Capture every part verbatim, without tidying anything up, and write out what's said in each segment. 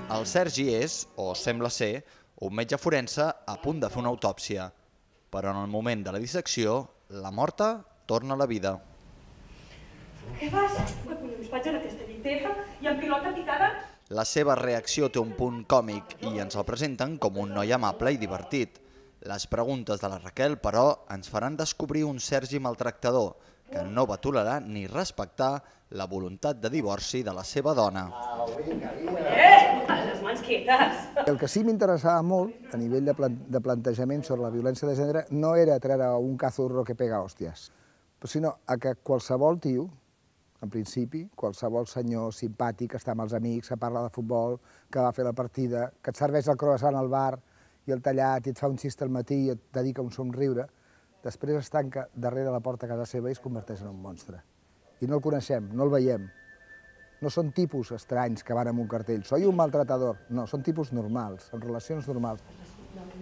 El Sergi és, o sembla ser, un metge forense a punt de fer una autòpsia, però en el moment de la dissecció, la morta torna a la vida. Què fas? Que collons faig en aquesta llitera i en pilota picada? La seva reacció té un punt còmic i ens el presenten com un noi amable i divertit. Les preguntes de la Raquel, però, ens faran descobrir un Sergi maltractador que no va tolerar ni respectar la voluntat de divorci de la seva dona. Eh! Les mans quietes! El que sí m'interessava molt, a nivell de, plan de plantejament sobre la violència de gènere, no era treure un cazurro que pega hòsties, sinó a que qualsevol tio, en principi, qualsevol senyor simpàtic que està amb els amics, que parla de futbol, que va fer la partida, que et serveix el croissant al bar i el tallat i et fa un xist al matí i et dedica un somriure, després es tanca darrere la porta a casa seva i es converteix en un monstre. I no el coneixem, no el veiem. No són tipus estranys que van amb un cartell. Soy un maltratador. No, són tipus normals, amb relacions normals.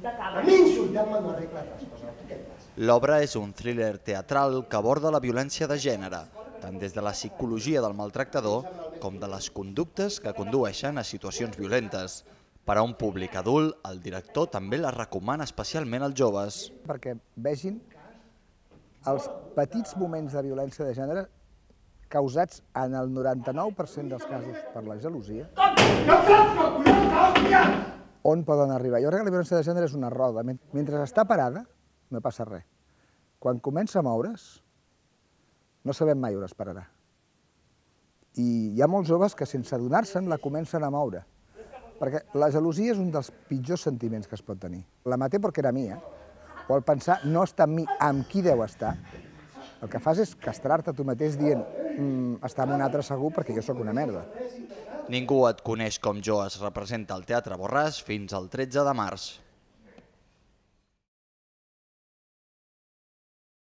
A mi insultant-me no arregla les coses. L'obra és un thriller teatral que aborda la violència de gènere, tant des de la psicologia del maltractador com de les conductes que condueixen a situacions violentes. Per a un públic adult, el director també la recomana especialment als joves. Perquè vegin els petits moments de violència de gènere causats en el noranta-nou per cent dels casos per la gelosia, on poden arribar. Jo crec que la violència de gènere és una roda. Mentre està parada, no passa res. Quan comença a moure's, no sabem mai on es pararà. I hi ha molts joves que sense adonar-se'n la comencen a moure. Perquè la gelosia és un dels pitjors sentiments que es pot tenir. La maté perquè era mia, o el pensar no està amb mi, amb qui deu estar, el que fas és castrar-te tu mateix dient mm, està amb un altre segur perquè jo sóc una merda. Ningú et coneix com jo es representa al Teatre Borràs fins al tretze de març.